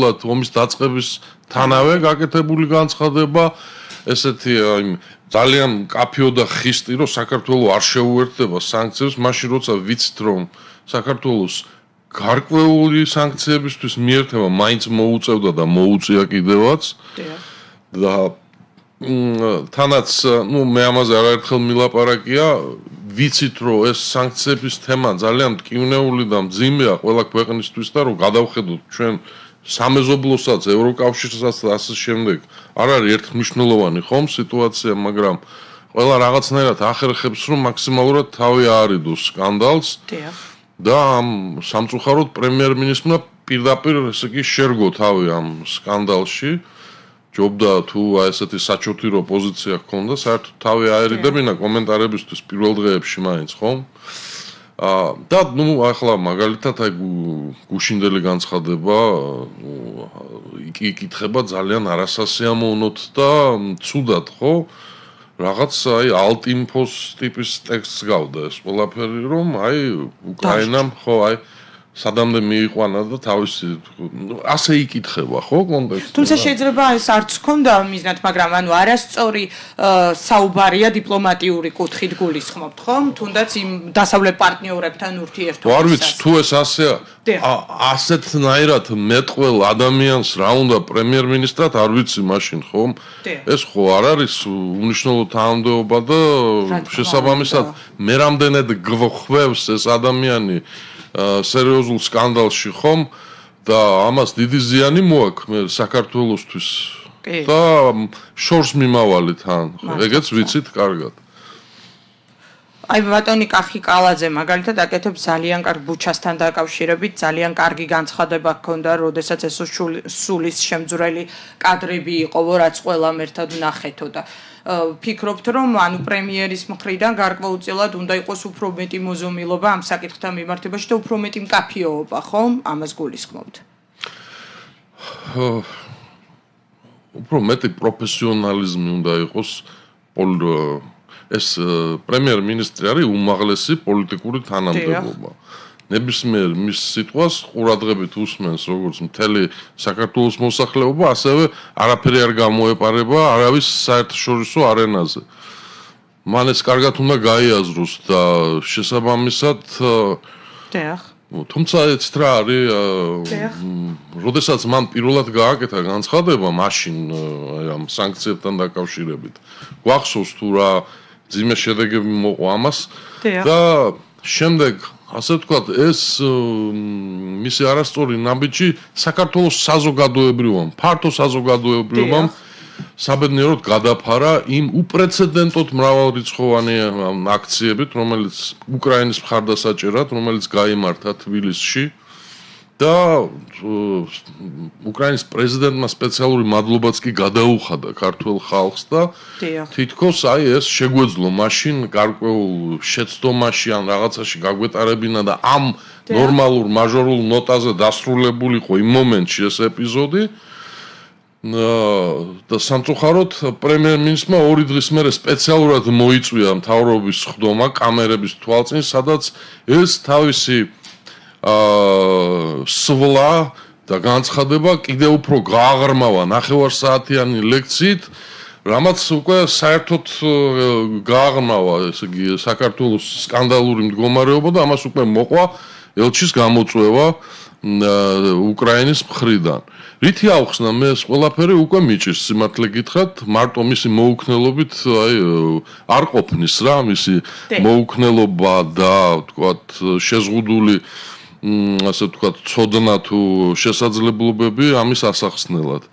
ომის დაწყების თანავე გაკეთებული განცხადება, ესეთი ძალიან კაფეო და ხისტი, რომ საქართველოს არ შეუერთდება სანქციებს, მაშინ როცა ვიცით, რომ საქართველოს გარკვეული სანქციებისთვის მიერთება მაინც მოუწევდა და მოუწია კიდევაც. და თანაც, მე ამაზე არაერთხელ მილაპარაკია, ვიცით, რომ ეს სანქციების თემა ძალიან მტკივნეული და მძიმეა ყველა ქვეყნისთვის და რომ გადავხედოთ ჩვენ სამეზობლოსაც, ევროკავშირსაც და ასე შემდეგ. არ არის ერთმნიშვნელოვანი ხომ სიტუაცია, მაგრამ ყველა რაღაცნაირად ახერხებს, რომ მაქსიმალურად თავი აარიდოს სკანდალს. და ამ სამწუხაროდ პრემიერ-მინისტრმა პირდაპირ ესე იგი შერგო თავი ამ სკანდალში. ჯობდა თუ ესეთი საჩოთირო პოზიცია ჰქონდა, საერთოდ თავი აერიდებინა კომენტარებისთვის პირველ დღეებში მაინც, ხომ? და ახლა მაგალითად აი გუშინდელი განცხადება იკითხება ძალიან არასასიამოვნოდ და ცუდად, ხო? რაღაც აი ალტინფოს ტიპის ტექსტს გავდა ეს ყველაფერი, რომ აი უკრაინამ ხო აი სადამდე მიიყვანა და თავისი ასე იკითხება, ხო, კონტექსტი. თუმცა შეიძლება ეს არც ჰქონდა მიზნად, მაგრამ არასწორი საუბარია დიპლომატიური კუთხით გულისხმობთ, ხომ? თუნდაც იმ დასავლეთ პარტნიორებთან ურთიერთობისას. არ ვიცი, თუ ეს ასეა, ასეთნაირად მეტყველ ადამიანს რა უნდა პრემიერ-მინისტრად, არ ვიცი მაშინ, ხომ? ეს ხო არ არის უნიშნელო თანამდებობა და შესაბამისად მე რამდენად გვხვევს ეს ადამიანი სერიოზულ სკანდალში ხომ და ამას დიდი ზიანი მოაქვს საქართველოსთვის და შორს მიმავალი თან ეგეც ვიცით კარგად. აი ბატონი კახი კალაძე მაგალითად აკეთებს ძალიან კარგ ბუჩასთან დაკავშირებით ძალიან კარგი განცხადება ჰქონდა, როდესაც ეს სულის შემძვრელი კადრები იყო, რაც ყველამ ერთად ნახეთო და ფიქრობთ, რომ პრემიერის მხრიდან გარკვეულწილად უნდა იყოს უფრო მეტი მოზომილობა ამ საკითხთან მიმართებაში და უფრო მეტი მკაფიოობა, ხომ? ამას გულისხმობთ. უფრო მეტი პროფესიონალიზმი უნდა იყოს ეს პრემიერ-მინისტრი არის უმაღლესი პოლიტიკური თანამდებობა. ნებისმიერ მის სიტყვას ყურადღებით უსმენს როგორც მთელი საქართველოს მოსახლეობა, ასევე არაფერი არ გამოეპარება არავის საერთაშორისო არენაზე. მან ეს კარგად უნდა გაიაზროს და შესაბამისად თუმცა ეცეთ რა არის, როდესაც მან პირველად გააკეთა განცხადება მაშინ ამ სანქციებთან დაკავშირებით. გვახსოვს თუ რა ძიმე შედეგები მოყვა ამას და შემდეგ ასე ვთქვათ, ეს მისი არასწორი ნაბიჯი საქართველოს საზოგადოებრივამ, ფართო საზოგადოებრივამ საბედნიეროდ გადაფარა იმ უპრეცედენტოდ მრავალრიცხოვანი აქციებით, რომელიც უკრაინის მხარდასაჭერად, რომელიც გაიმართა თბილისში და უკრაინის პრეზიდენტმა სპეციალური მადლობაც კი გადაუხადა ქართულ ხალხს და თითქოს აი ეს შეგვეძლო მაშინ გარკვეულ შეცდომაში ან რაღაცაში გაგვეტარებინა და ამ ნორმალურ მაჟორულ ნოტაზე დასრულებულიყო იმ მომენტში ეს ეპიზოდი და სამწუხაროდ პრემიერ-მინისტრმა 2 დღის მერე სპეციალურად მოიწვია მთავრობის ხდომა კამერების თვალწინ, სადაც ეს თავისი სვლა და განცხადება კიდევ უფრო გააღრმავა 9 საათიანი ლექციით, რამაც უკვე საერთოდ გააღრმავა, ესე იგი, საქართველოს სკანდალური მდგომარეობა და ამას უკვე მოყვა ელჩის გამოწვევა უკრაინის მხრიდან. რითი ავხსნა მე ეს ყველაფერი უკვე მიჭირს სიმართლე გითხრათ, მარტო მისი მოუქნელობით აი არ ყოფნის რა, მისი მოუქნელობა და ვთქვათ შეზღუდული ასე ვთქვათ, ცოდნა თუ შესაძლებლობები ამის ასახსნელად.